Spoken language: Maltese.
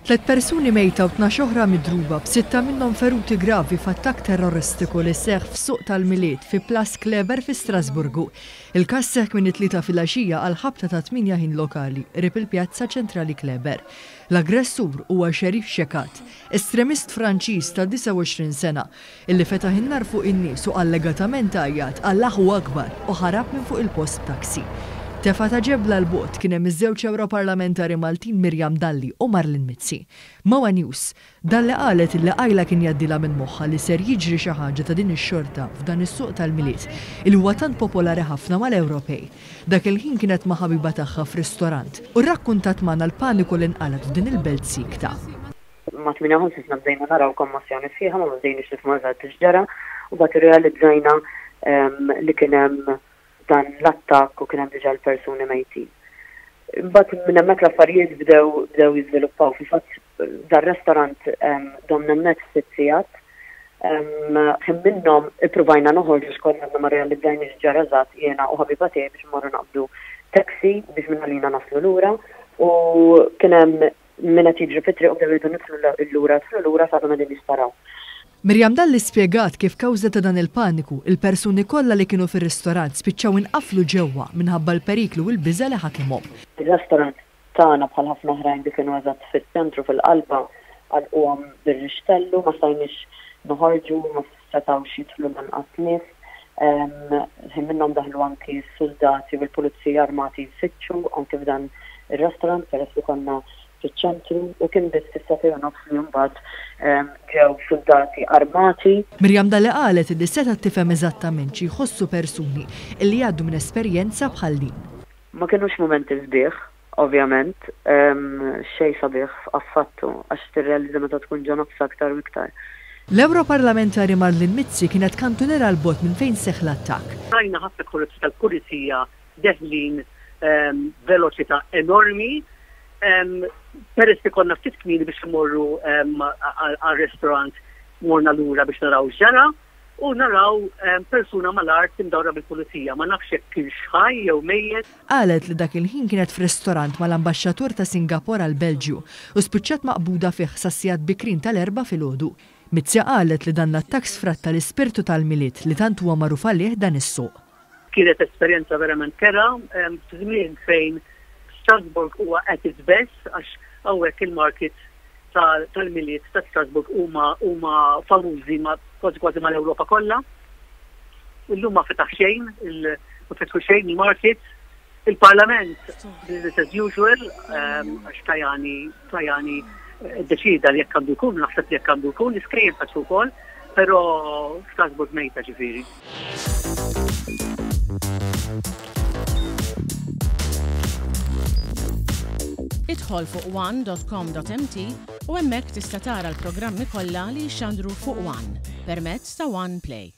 Tliet persuni mejta u 12 oħra midruba, b'sitta minnhom feruti gravi f'attakk terroristiku li seħħ f'suq tal-Milied fi Place Kleber fi Strasburgu. Il-każ seħħ kmieni t-Tlieta filgħaxija għall-ħabta tat-tmienja ħin lokali, qrib il-pjazza ċentrali Kleber. L-aggressur huwa Cherif Chekatt, estremist Franċiż ta' 29 sena, Illi fetaħ in-nar fuq in-nies u allegatament għajjat Allahu Akbar u ħarab minn fuq il-post b'taxi. Tefgħa ta' ġebla 'l bogħod kien hemm iż-żewġ Ewroparlamentari Maltin Miriam Dalli u Marlene Mizzi. Ma' one News, Dalli qalet illi qajla kien jgħaddilha minn moħħha li ser jiġri xi ħaġa ta' din ix-xorta f'dan is-suq tal-Milied illi huwa tant popolari ħafna mal-Ewropej. Dak il-ħin kienet ma' ħabiba tagħha f'ristorant u rrakkuntat magħna l-paniku li nqalgħet f'din il-belt siekta. Ma' 58 sena bdejna naraw kommossjoni sħiħa, ma bdejniex nifhmu eżatt x'ġara, u mbagħad irrealizzajna li kien hemm dan l-attakk u kien hemm diġà l-persuni mejtin. Imbagħad minn hemmhekk l-affarijiet bdew bdew jiżviluppaw. Fil-fatt dar-restorant domna hemmhekk sitt sigħat. Ħin minnhom ippruvajna noħorġu x'konna għadna ma rrealizzajniex x'ġara eżatt jiena u ħabiba tiegħi biex immorru naqbdu taxi biex mingħalina naslu lura u kien hemm Min qed jiġri fit-triq u bdew jgħidu nidħlu lura, idħlu lura għax għadhom qegħdin jisparaw. Miriam Dalli spjegat kif kawża ta' dan il-paniku, il-persuni kollha li kienu fir-ristorant spiċċaw inqaflu ġewwa minħabba l-periklu u l-biża' li ħakimhom. Ir-restorant tagħna bħal ħafna oħrajn li kienu eżatt fiċ-ċentru fil-qalba għalquhom bir-rixtellu, ma stajniex noħorġu, ma setgħux jidħlu lanqas nies. Ħin minnhom daħlu anki s-suldati u l-pulizija armati jfittxu anki f'dan ir-restaurant peress li konna fiċ-ċentru u kien biss fis-sagħtejn u nofs li mbagħad ġew suldati armati. Miriam Dalli qalet li setgħet tifhem eżattament xi jħossu persuni li jgħaddu minn esperjenza bħal din. Ma kinux mumenti sbieħ, Ovvjament, xejn sabiħ affattu, għax tirrealizza meta tkun ġo nofsha aktar u iktar. L-Ewroparlamentari Marlene Mizzi kienet kantuniera 'l bogħod minn fejn seħħ l-attakk. Rajna ħafna karozzi tal-pulizija deħlin b'veloċità enormi. Peress li konna ftit kmieni biex immorru għar-restaurant morna lura biex naraw x'ġara. U naraw persuna mal-art imdawra bil-pulizija. Ma nafx jekk kienx ħaj jew mejjet. Qalet li dak il-ħin kienet f'restorant mal-Ambaxxatur ta' Singapore għall-Belġju u spiċċat maqbuda fih sas-sigħat bikrin tal-Erbgħa filgħodu. Mizzi qalet li dan l-attakk sfratta l-ispirtu tal-Milied li tant huwa magħruf għalih dan is-suq. Kienet esperjenza verament kerha f'żmien fejn Strasbourg huwa at its best għax hawnhekk il-markets tal-Milied ta' Strasbourg huma huma famużi ma' kważi kważi mal-Ewropa kollha. Illum ma fetaħ xejn, ma fetħu xejn il-markets. Il-Parlament business as usual, għax Tajani Tajani ddeċieda li jekk għandu jkun, naħseb li jekk għandu jkun, l-iskejjel fetħu wkoll, però Strasbourg mejta ġifieri. Idħol fuq one.com.mt u hemmhekk tista' tara l-programmi kollha li jixxandru fuq One permezz ta' One Play.